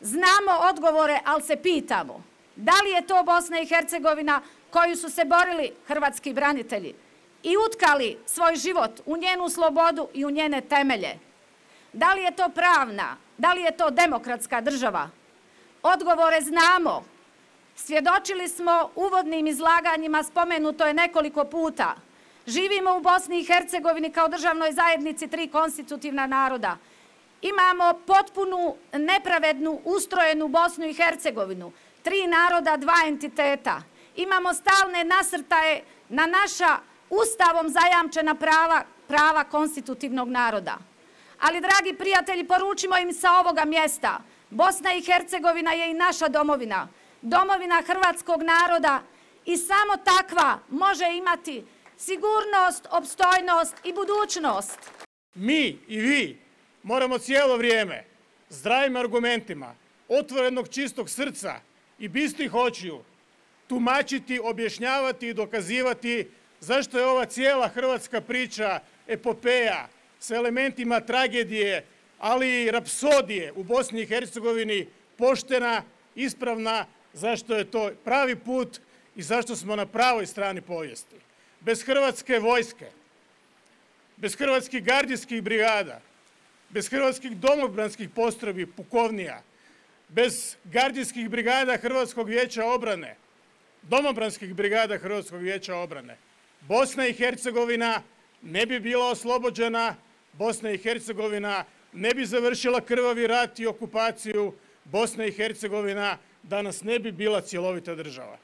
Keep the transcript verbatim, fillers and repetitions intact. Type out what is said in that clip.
Znamo odgovore, ali se pitamo da li je to Bosna i Hercegovina koju su se borili hrvatski branitelji i utkali svoj život u njenu slobodu i u njene temelje. Da li je to pravna, da li je to demokratska država? Odgovore znamo. Svjedočili smo uvodnim izlaganjima, spomenuto je nekoliko puta. Živimo u Bosni i Hercegovini kao državnoj zajednici tri konstitutivna naroda. Imamo potpunu, nepravednu, ustrojenu Bosnu i Hercegovinu. Tri naroda, dva entiteta. Imamo stalne nasrtaje na naša Ustavom zajamčena prava, prava konstitutivnog naroda. Ali, dragi prijatelji, poručimo im sa ovoga mjesta. Bosna i Hercegovina je i naša domovina. Domovina hrvatskog naroda i samo takva može imati sigurnost, opstojnost i budućnost. Mi i vi moramo cijelo vrijeme zdravim argumentima, otvorenog čistog srca i bistrih očiju tumačiti, objašnjavati i dokazivati zašto je ova cijela hrvatska priča epopeja sa elementima tragedije, ali i rapsodije u Bosni i Hercegovini poštena, ispravna, zašto je to pravi put i zašto smo na pravoj strani povijesti. Bez hrvatske vojske, bez hrvatskih gardijskih brigada, bez hrvatskih domobranskih postrojbi, pukovnija, bez gardijskih brigada Hrvatskog vijeća obrane, domobranskih brigada Hrvatskog vijeća obrane, Bosna i Hercegovina ne bi bila oslobođena, Bosna i Hercegovina ne bi završila krvavi rat i okupaciju, Bosna i Hercegovina danas ne bi bila cjelovita država.